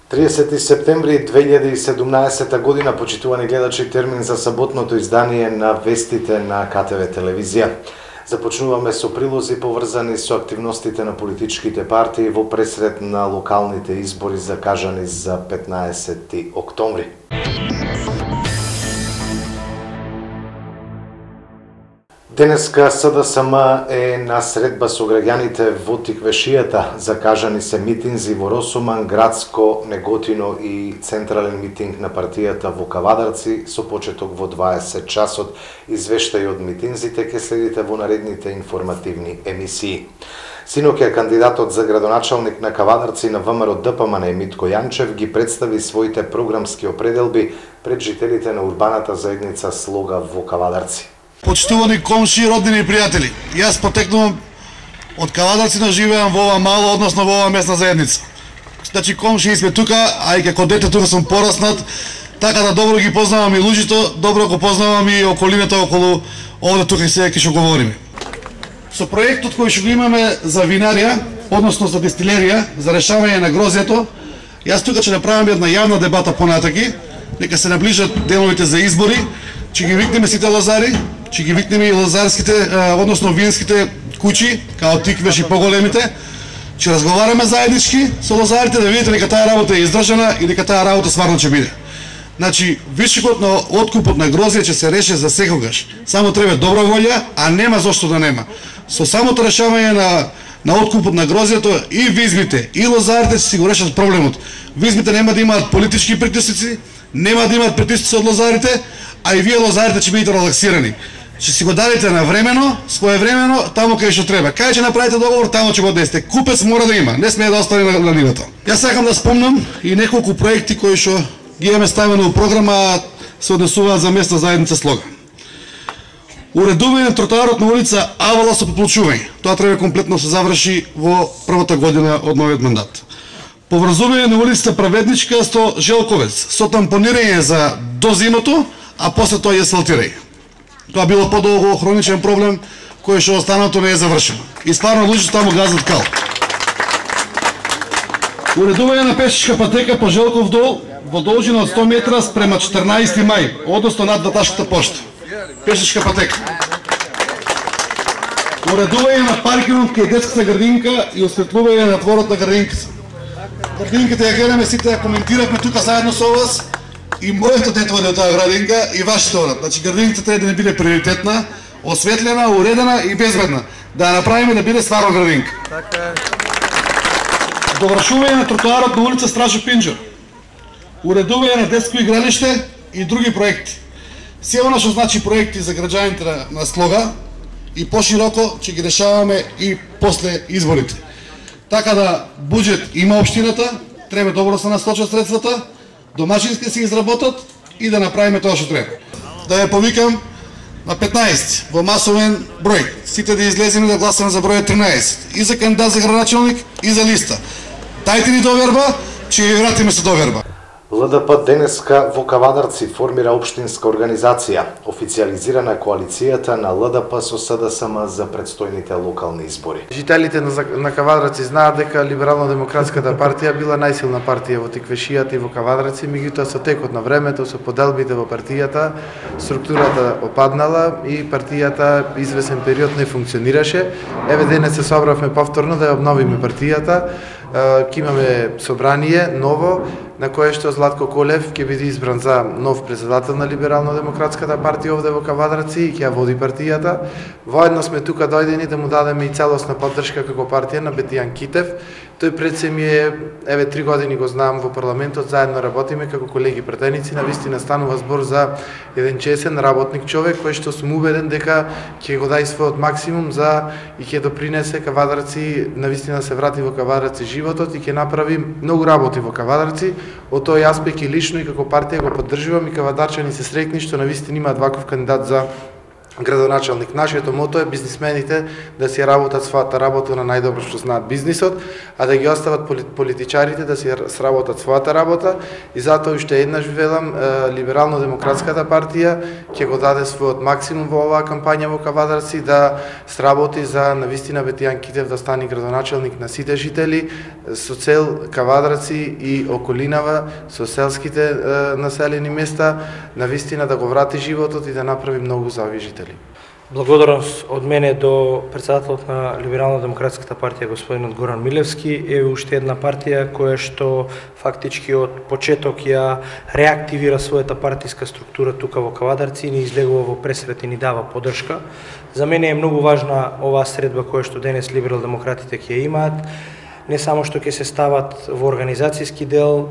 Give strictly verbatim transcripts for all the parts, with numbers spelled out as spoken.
триесети септември две илјади и седумнаесета година, почитувани гледачи, термин за саботното издание на вестите на К Т В телевизија. Започнуваме со прилози поврзани со активностите на политичките партии во пресред на локалните избори закажани за петнаесети октомври. Денеска С Д С М е на средба со граѓаните во Тиквешијата. Закажани се митинзи во Росуман, Градско, Неготино и централен митинг на партијата во Кавадарци со почеток во дваесет часот. Извештај од митинзите ќе следите во наредните информативни емисии. Синоќа кандидатот за градоначалник на Кавадарци на В М Р Д П М Н Митко Јанчев ги представи своите програмски определби пред жителите на урбаната заедница Слога во Кавадарци. Почитувани комши, роднини и пријатели, јас потекнувам од Кавадарци, но живеам во ова мало, односно во ова местна заедница. Значи комши сме тука, а и како дете тука сум пораснат, така да добро ги познавам и луѓето, добро го познавам и околината околу овде тука и сега ќе што говориме. Со проектот кој што го имаме за винарија, односно за дестилерија, за решавање на грозјето, јас тука ќе направам една јавна дебата понатаки, нека се наближат деновите за избори, ќе ги викнеме сите лозари, ќе ги викнеме и лозарските, односно винските куќи, као Тиквеш и поголемите, ќе разговараме заеднички со лозарите да видите дека таа работа е издржана и дека таа работа стварно ќе биде. Значи, вишокот на откупот на грозје ќе се реше за секогаш. Само треба добра волја, а нема зошто да нема. Со самото решавање на на откупот на грозјето и визмите, и лозарите ќе си го решат проблемот. Визмите нема да имаат политички притисци, нема да имаат притисци од лозарите, а и вие лозарите ќе бидете релаксирани. Ќе си го дадете на времено, своевремено, таму кај што треба. Кај ќе направите договор, таму ќе го десте. Купец мора да има, не смее да остане на, на нивата. Јас сакам да спомнам и неколку проекти кои што ги имаме ставено во програма, се однесуваат за местна заедница Слога. Уредување на тротоарот на улица Авала со поплучување. Тоа треба комплетно се заврши во првата година од новиот мандат. Поврзување на улицата Праведничка со Желковец, со тампонирање за до зимото, а после тоа и асфалтирање. Тоа било подолго хроничен проблем кој што останато не е завршено. И стварно луѓето таму газат кал. Уредување на пешачка патека по Желков дол во должина од сто метра спрема четрнаесети мај, односно над Баташката пошта. Пешачка патека. Уредување на паркингот кај детската градинка и осветлување на дворот на градинката. Градинката ја гледаме сите, ја коментиравме тука заедно со вас. И моето дете оди од таа градинка и вашите одат. Значи градинката треба да не биде приоритетна, осветлена, уредена и безбедна. Да ја направиме да биде стварно градинка. Така. Довршување на тротоарот на улица Стражо Пинџо. Уредување на детско игралиште и други проекти. Се она што значи проекти за граѓаните на Слога и пошироко ќе ги решаваме и после изборите. Така да буџет има општината, треба добро да се насочат средствата, домашински се изработат и да направиме тоа што треба. Да ја повикам на петнаесети во масовен број. Сите да излеземе да гласаме за број тринаесет. И за кандидат за градоначалник, и за листа. Дајте ни доверба, ќе ја вратиме со доверба. Л Д П денеска во Кавадарци формира општинска организација. Официализирана коалицијата на Л Д П со С Д С М за предстојните локални избори. Жителите на, на Кавадарци знаат дека Либерално-демократската партија била најсилна партија во Тиквешијата и во Кавадарци, меѓутоа со текот на времето, со поделбите во партијата, структурата опаднала и партијата извесен период не функционираше. Еве денес се собравме повторно да ја обновиме партијата. Ќе имаме собрание ново, на кое што Златко Колев ќе биде избран за нов председател на Либерално-демократската партија овде во Кавадарци и ќе ја води партијата. Воедно сме тука дојдени да му дадеме и целосна поддршка како партија на Бетијан Китев. Тој пред се ми е, еве три години го знам во парламентот, заедно работиме како колеги пратеници, навистина станува збор за еден чесен работник човек кој што сум убеден дека ќе го даде својот максимум за и ќе допринесе Кавадарци, навистина се врати во Кавадарци животот и ќе направи многу работи во Кавадарци. Од тој аспект и лично и како партија го поддржувам и кавадарчани се среќни што навистина имаат ваков кандидат за градоначалник. Нашето мото е бизнисмените да си работат својата работа на најдобро што знаат бизнисот, а да ги остават политичарите да си сработат својата работа, и затоа уште еднаш велам, Либерално-демократската партија ќе го даде својот максимум во оваа кампања во Кавадарци да сработи за навистина Бетијан Китев да стане градоначалник на сите жители, со цел Кавадарци и околинава, со селските населени места, навистина да го врати животот и да направи многу за овие жители. Благодарност од мене до председателот на Либерално-демократската партија господинот Горан Милевски. Е уште една партија која што фактички од почеток ја реактивира својата партиска структура тука во Кавадарци и ни излегува во пресрет и ни дава поддршка. За мене е многу важна оваа средба која што денес либерал-демократите ќе имаат. Не само што ќе се стават во организацијски дел,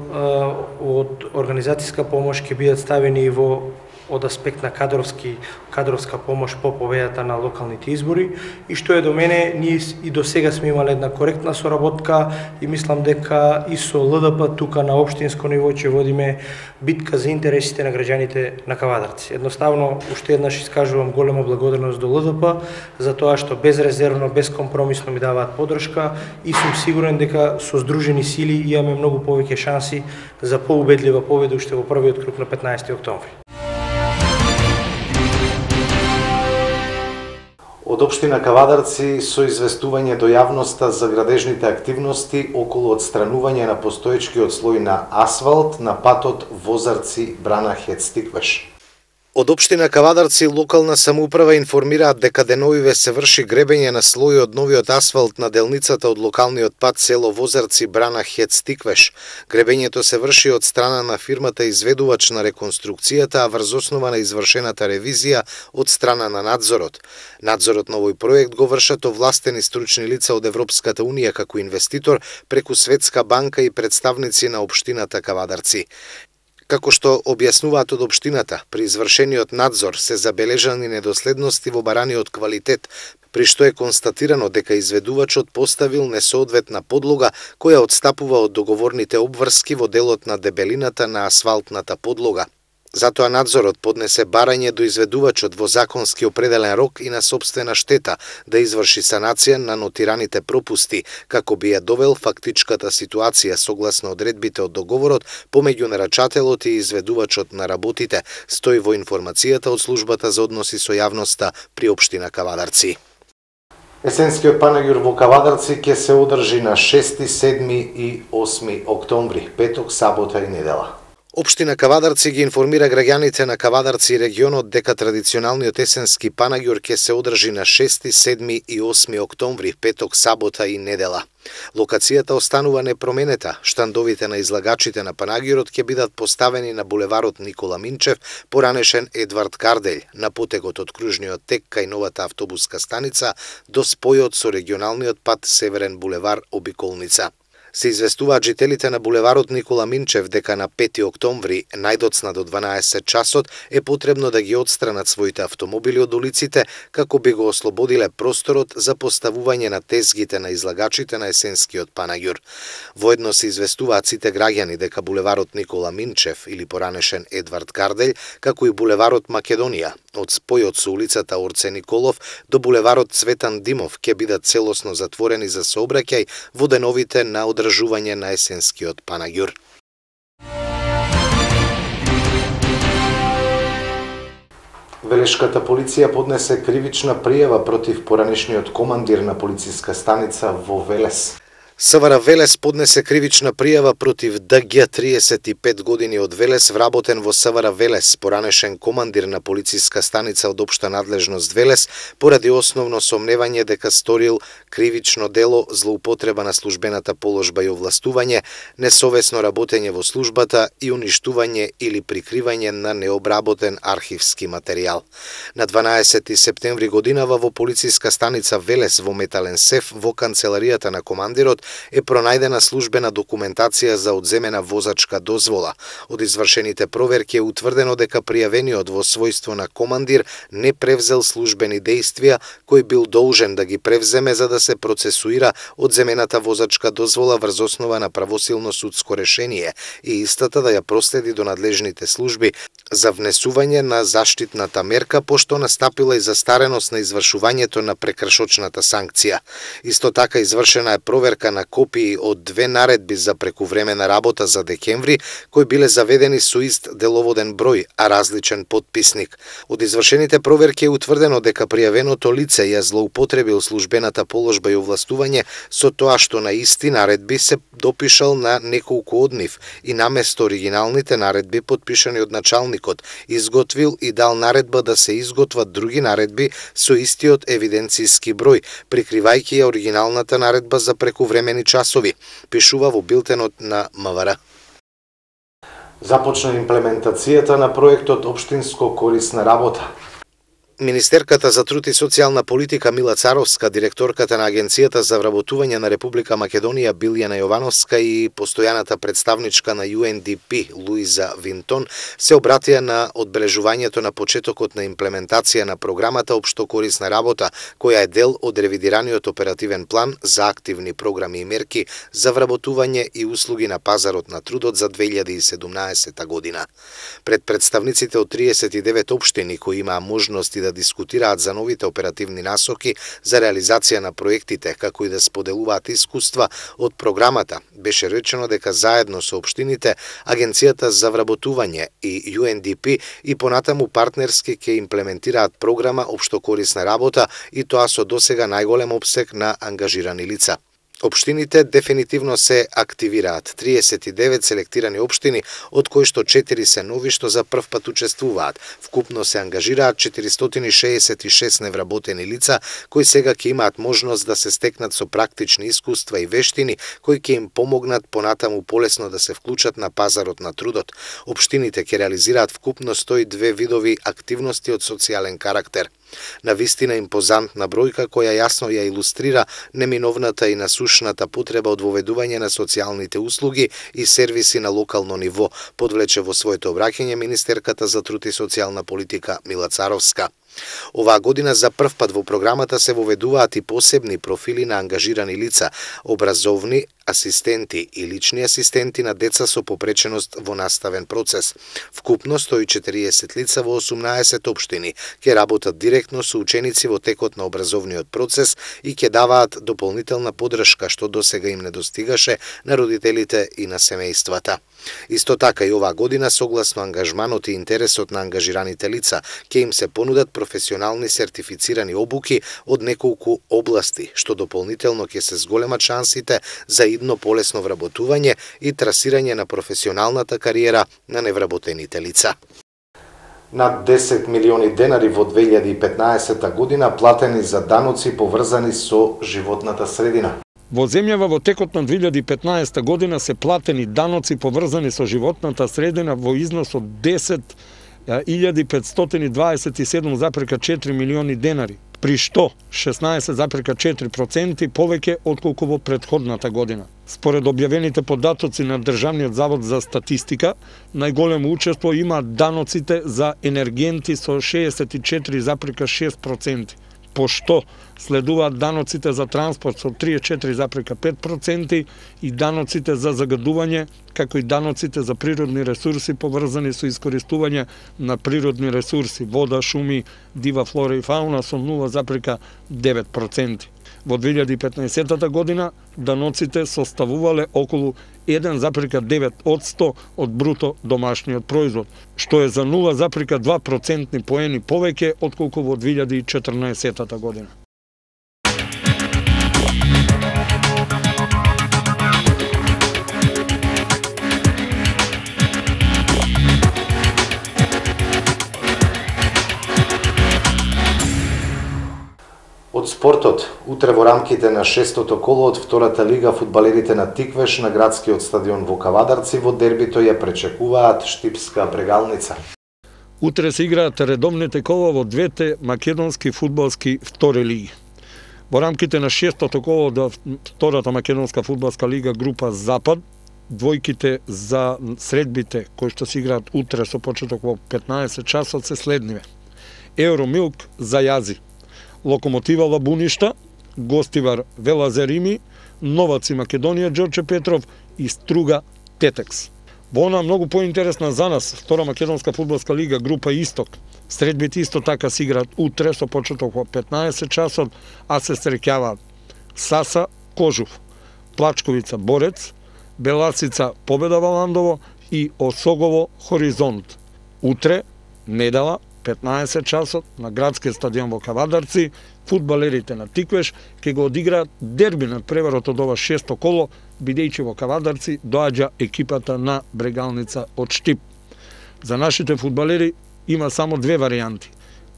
од организацијска помош ќе бидат ставени и во од аспект на кадровски кадровска помош по победата на локалните избори, и што е до мене, ние и до сега сме имале една коректна соработка и мислам дека и со Л Д П тука на општинско ниво ќе водиме битка за интересите на граѓаните на Кавадарци. Едноставно, уште еднаш искажувам голема благодарност до Л Д П за тоа што безрезервно, безкомпромисно ми даваат поддршка, и сум сигурен дека со здружени сили имаме многу повеќе шанси за поубедлива победа уште во првиот круг на петнаесети октомври. Од општина Кавадарци со известување до јавноста за градежните активности околу отстранување на постоечкиот слој на асфалт на патот Возарци-Брана-Хец-Тиквеш. Од општина Кавадарци локална самоуправа информираат дека деновиве се врши гребење на слојот од новиот асфалт на делницата од локалниот пат село Возарци-Брана-Хец-Тиквеш. Гребењето се врши од страна на фирмата изведувач на реконструкцијата, а врз основа на извршената ревизија од страна на надзорот. Надзорот на овој проект го вршат овластени стручни лица од Европската унија како инвеститор преку Светска банка и представници на општината Кавадарци. Како што објаснуваат од општината, при извршениот надзор се забележани недоследности во бараниот квалитет, при што е констатирано дека изведувачот поставил несоодветна подлога која одстапува од договорните обврски во делот на дебелината на асфалтната подлога. Затоа надзорот поднесе барање до изведувачот во законски определен рок и на сопствена штета да изврши санација на нотираните пропусти, како би ја довел фактичката ситуација согласно одредбите од договорот помеѓу нарачателот и изведувачот на работите, стои во информацијата од службата за односи со јавноста при општина Кавадарци. Есенскиот панагюр во Кавадарци ќе се одржи на шести, седми и осми октомври, петок, сабота и недела. Општина Кавадарци ги информира граѓаните на Кавадарци и регионот дека традиционалниот есенски панагюр ќе се одржи на шести, седми и осми октомври, петок, сабота и недела. Локацијата останува непроменета. Штандовите на излагачите на панагюрот ќе бидат поставени на булеварот Никола Минчев, поранешен Едвард Карделј, на потегот од кружниот тек кај новата автобуска станица до спојот со регионалниот пат Северен булевар Обиколница. Се известуваат жителите на булеварот Никола Минчев дека на пети октомври, најдоцна до дванаесет часот, е потребно да ги одстранат своите автомобили од улиците, како би го ослободиле просторот за поставување на тезгите на излагачите на есенскиот панагюр. Воедно се известуваат сите граѓани дека булеварот Никола Минчев или поранешен Едвард Карделј, како и булеварот Македонија, од спојот со улицата Орце Николов до булеварот Цветан Димов ќе бидат целосно затворени за сообраќај во деновите на одржување на есенскиот панагюр. Велешката полиција поднесе кривична пријава против поранешниот командир на полициска станица во Велес. С В Р Велес поднесе кривична пријава против Д Г триесет и пет години од Велес, вработен во С В Р Велес, поранешен командир на полициска станица од општа надлежност Велес, поради основно сомневање дека сторил кривично дело злоупотреба на службената положба и овластување, несовесно работење во службата и уништување или прикривање на необработен архивски материјал. На дванаесети септември годинава во полициска станица Велес во метален сеф во канцеларијата на командирот е пронајдена службена документација за одземена возачка дозвола. Од извршените проверки е утврдено дека пријавениот во својство на командир не превзел службени дејствија кој бил должен да ги превземе за да се процесуира одземената возачка дозвола врз основа на правосилно судско решение и истата да ја проследи до надлежните служби за внесување на заштитната мерка, пошто настапила и застареност на извршувањето на прекршочната санкција. Исто така извршена е проверка на копии од две наредби за прекувремена работа за декември, кои биле заведени со ист деловоден број, а различен подписник. Од извршените проверки е утврдено дека пријавеното лице ја злоупотребил службената положба и овластување со тоа што на исти наредби се допишал на неколку од нив и наместо оригиналните наредби подпишани од началник изготвил и дал наредба да се изготват други наредби со истиот евиденцијски број, прикривајќи ја оригиналната наредба за прекувремени часови, пишува во билтенот на МВР. Започна имплементацијата на проектот Општинско корисна работа. Министерката за труд и социјална политика Мила Царовска, директорката на Агенцијата за вработување на Република Македонија Билјана Јовановска и постојаната представничка на Ю Ен Ди Пи Луиза Винтон се обратија на одбележувањето на почетокот на имплементација на програмата Општо корисна работа, која е дел од ревидираниот оперативен план за активни програми и мерки за вработување и услуги на пазарот на трудот за две илјади и седумнаесета година. Пред представниците од триесет и девет општини кои имаа можности да дискутираат за новите оперативни насоки за реализација на проектите, како и да споделуваат искуства од програмата, беше речено дека заедно со општините, Агенцијата за вработување и Ю Ен Ди Пи и понатаму партнерски ќе имплементираат програма Општо корисна работа и тоа со досега најголем опсег на ангажирани лица. Општините дефинитивно се активираат. триесет и девет селектирани општини, од кои што четири се нови што за прв пат учествуваат. Вкупно се ангажираат четиристотини шеесет и шест невработени лица, кои сега ќе имаат можност да се стекнат со практични искуства и вештини, кои ќе им помогнат понатаму полесно да се вклучат на пазарот на трудот. Општините ќе реализираат вкупно сто и две видови активности од социјален карактер. Навистина импозантна бројка која јасно ја илустрира неминовната и насушната потреба од воведување на социјалните услуги и сервиси на локално ниво, подвлече во своето обраќање министерката за труд и социјална политика Мила Царовска. Оваа година за прв пат во програмата се воведуваат и посебни профили на ангажирани лица, образовни асистенти и лични асистенти на деца со попреченост во наставен процес. Вкупно сто и четириесет лица во осумнаесет општини ќе работат директно со ученици во текот на образовниот процес и ќе даваат дополнителна поддршка што досега им недостигаше на родителите и на семејствата. Исто така и оваа година, согласно ангажманот и интересот на ангажираните лица, ќе им се понудат професионални сертифицирани обуки од неколку области, што дополнително ќе се зголемат шансите за идно полесно вработување и трасирање на професионалната кариера на невработените лица. Над десет милиони денари во две илјади и петнаесета година платени за даноци поврзани со животната средина. Во земјава во текот на две илјади и петнаесета година се платени даноци поврзани со животната средина во износ од десет илјади петстотини дваесет и седум запирка четири милиони денари, при што шеснаесет запирка четири проценти повеќе отколку во претходната година. Според објавените податоци на Државниот завод за статистика, најголемо учество имаат даноците за енергенти со шеесет и четири запирка шест проценти, пошто следуваат даноците за транспорт со триесет и четири запирка пет проценти и даноците за загадување, како и даноците за природни ресурси поврзани со искористување на природни ресурси, вода, шуми, дива флора и фауна со нула запирка девет проценти. Во две илјади и петнаесета година даноците составувале околу еден запирка девет одсто од бруто домашниот производ, што е за нула запирка два процентни поени повеќе отколку во две илјади и четрнаесета година. Од спортот, утре во рамките на шестото коло од втората лига фудбалерите на Тиквеш на градскиот стадион во Кавадарци во дербито ја пречекуваат Штипска Брегалница. Утре се играат редовните кола во двете македонски фудбалски втори лиги. Во рамките на шестото коло од втората македонска фудбалска лига група Запад, двојките за средбите кои што се играат утре со почеток во петнаесет часот се следниве. Евромилк за Јази, Локомотива Лабуништа, Гостивар Велазерими, Новаци Македонија Ѓорче Петров и Струга Тетекс. Во она многу поинтересна за нас, втора македонска фудбалска лига, група Исток. Средбите исто така се играат утре со почеток во петнаесет часот, а се среќаваат Саса Кожув, Плачковица Борец, Беласица Победа Валандово и Осогово Хоризонт. Утре, недела, петнаесет часот, на градскиот стадион во Кавадарци, фудбалерите на Тиквеш ќе го одиграат дерби над преварот од ова шесто коло, бидејќи во Кавадарци доаѓа екипата на Брегалница од Штип. За нашите фудбалери има само две варијанти.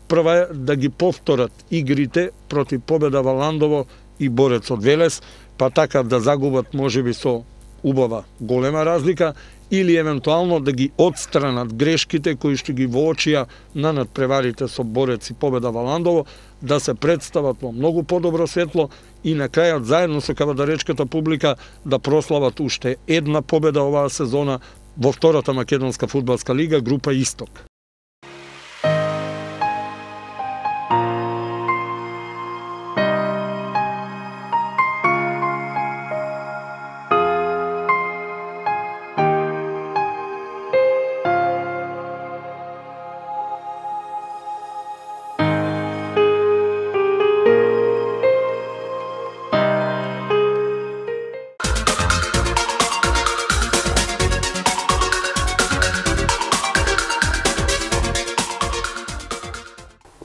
Прва е да ги повторат игрите против Победа Валандово и Борец од Велес, па така да загубат можеби со убава голема разлика, или евентуално да ги отстранат грешките кои што ги воочија на надпреварите со Борец и Победа Валандово, да се представат во многу подобро светло и на крајот заедно со кавадаречката публика да прослават уште една победа оваа сезона во втората македонска фудбалска лига, група Исток.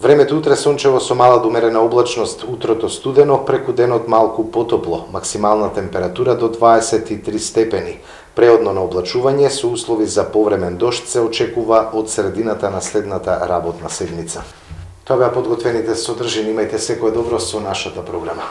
Времето утре сончево со мала до умерена облачност, утрото студено, преку денот малку потопло, максимална температура до дваесет и три степени. Преодно на облачување со услови за повремен дожд се очекува од средината на следната работна седмица. Тоа беа подготвените содржини, имајте секое добро со нашата програма.